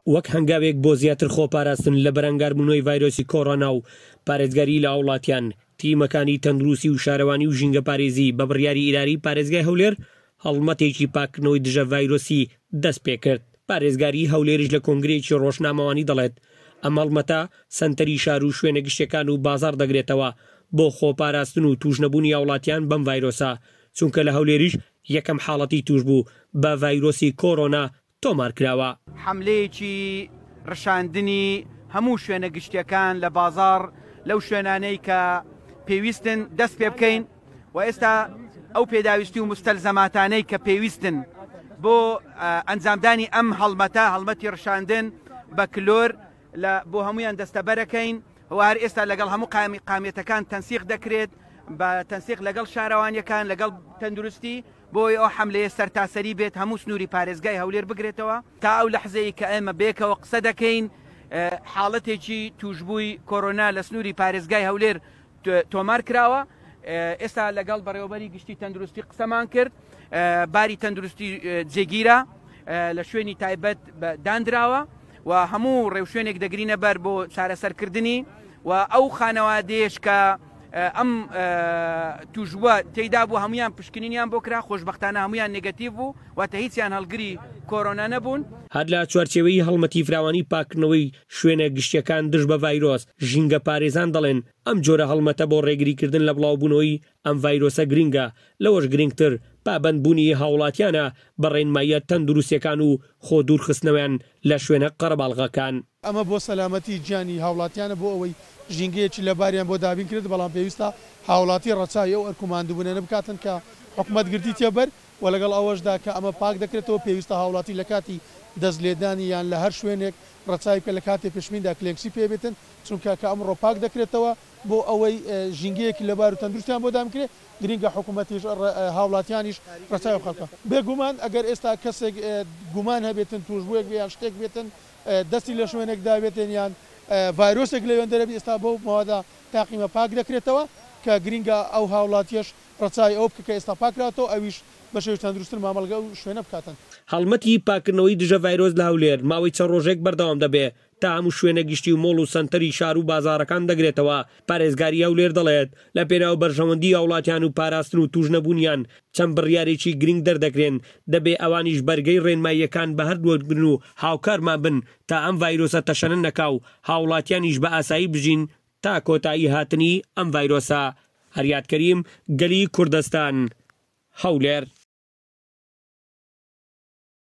وەک هەنگاوێک بۆ زیاتر خۆپاراستن لە بەرەنگاربوونەوەی ڤایرۆسی کۆرۆنا و پارێزگاری لە هاوڵاتیان، تیمەکانی تەندروستی و شارەوانی و ژینگەپارێزی بە بڕیاری ئیدارەی پارێزگای هەولێر هەڵمەتێکی پاککردنەوەی دژە ڤایرۆسی دەستپێکرد. پارێزگاری هەولێریش لە کۆنگرەیەکی ڕۆژنامەوانی دەڵێت، ئەم هەڵمەتە سەنتەری شار و شوێنە گشتیەکان و بازاڕ دەگرێتەوە بۆ خۆپاراستن و تووشنەبوونی هاوڵاتیان بەم ڤایرۆسە، چونکە لە هەولێریش یەکەم حاڵەتی تووشبوو بە ڤایرۆسی کۆرۆنا تۆمارکراوە. حەملەیەکی ڕشاندنی هەموو شوێنە گشتیەکان لە بازاڕ لەو شوێنانەی کە پێویستن دەست پێ بکەین و ئێستا ئەو پێداویستی و مستەلزەماتانەی کە پێویستن بۆ ئەنجامدانی ئەم هەڵمەتە، هەڵمەتی ڕشاندن بە کلۆر لە بۆ هەمویان دەستەبەرەکەین و هەر ئێستا لەگەڵ هەموو قامی قامیەتەکان تەنسیق دەکرێت بە تەنسیق لەگەڵ شارەوانیەکان لەگەڵ تەندروستی بۆی ئەو حەملەیە سەرتاسەری بێت هەموو سنووری پارێزگای هەولێر بگرێتەوە. تا ئەو لەحزەی کە ئێمە بەیەکەوە قسە دەکەین حاڵەتێکی تووشبووی کۆرۆنا لە سنووری پارێزگای هەولێر تۆمار کراوە. ئێستا لەگەڵ بەڕێوەبەری گشتی تەندروستی قسەمان کرد، باری تەندروستی جێگیرە، لە شوێنی تایبەت دانراوە و هەموو ڕێوشوێنێک دەگرینە بەر بۆ چارەسەرکردنی و ئەو خانەوادەیەش کە ئەم تووشبووە تێیدا بوو هەمویان پشکنینیان بۆ کرا، خۆشبەختانە هەمویان نێگەتیڤ بوو، واتە هیچیان هەڵگری کۆرۆنا نەبوون. هەر لە چوارچێوەی هەڵمەتی فراوانی پاککردنەوەی شوێنە گشتییەکان دژ بە ڤایرۆس، ژینگەپارێزان دەڵێن، ئەم جۆرە هەڵمەتە بۆ ڕێگریکردن لە بڵاوبوونەوەی ئەم ڤایرۆسە گرنگە، لەوەش گرنگتر پابەندبوونی هاوڵاتیانە بە ڕێنماییە تەندروستییەکان و خۆ دوورخستنەوەیان لە شوێنە قەرەباڵغەکان. ئەمە بۆ سەلامەتی گیانی هاوڵاتیانە بۆ ئەوەی ژینگەیەکی لەباریان بۆ دابین کرێت، بەڵام پێویستە هاوڵاتی ڕەچاوی ئەو ئەرک و ماندووبوونانە بکاتن کە حکومەت گرتیتیە بەر و لەگەڵ ئەوەشدا کە ئەمە پاک دەکرێتەوە پێویستە هاوڵاتی لە کاتی دەست لێدانی یان لە هەر شوێنێک ڕەچاوی بکات لە کاتی پشمیندا کلێنکسی پێ بێتن چونکە کە ئەمڕۆ پاک دەکرێتەوە بۆ ئەوەی ژینگەیەکی لەبار و تەندروستیان بۆ دابین کرێت گرینگە حکومەتیش هاوڵاتیانیش ڕەچاوی بکات. بێگومان ئەگەر ئێستا کەسێک گومان هەبێتن توشبووێک بێ یان شتێک بێتن دەستی لە شوێنێک دابێتێن یان ڤایرۆسێک لەوێندەرە بی ئێستا بەو مەوادە تاقیمە پاک دەکرێتەوە کە گرینگە ئەو هاوڵاتیەش ڕەچاوی ئەوە بکە کە ئێستا پاکراوەتەوە ئەویش بە شێوەی تەندروستتر مامەڵە لەگەڵ ئەو شوێنە بکاتن. هەڵمەتی پاککردنەوەی دژە ڤایرۆس لە هەولێر ماوەی چەند ڕۆژێک بەردەوام دەبێ تا هەموو شوێنە گشتی و مۆڵ و سەنتەری شار و بازاڕەکان دەگرێتەوە، پارێزگاری هەولێر دەڵێت، لە پێناو بەرژەوەندی هاوڵاتیان و پاراستن و تووشنەبوونیان چەند بڕیارێکی گرنگ دەردەکرێن، دەبێ ئەوانیش بەرگەی ڕێنماییەکان بە هەرد وەربگرن و هاوکارمان بن تا ئەم ڤایرۆسە تەشەنە نەکا و هاوڵاتیانیش بە ئاسایی بژین تا کۆتایی هاتنی ئەم ڤایرۆسە. هەریاد کەریم، گەلی کوردستان، هەولێر.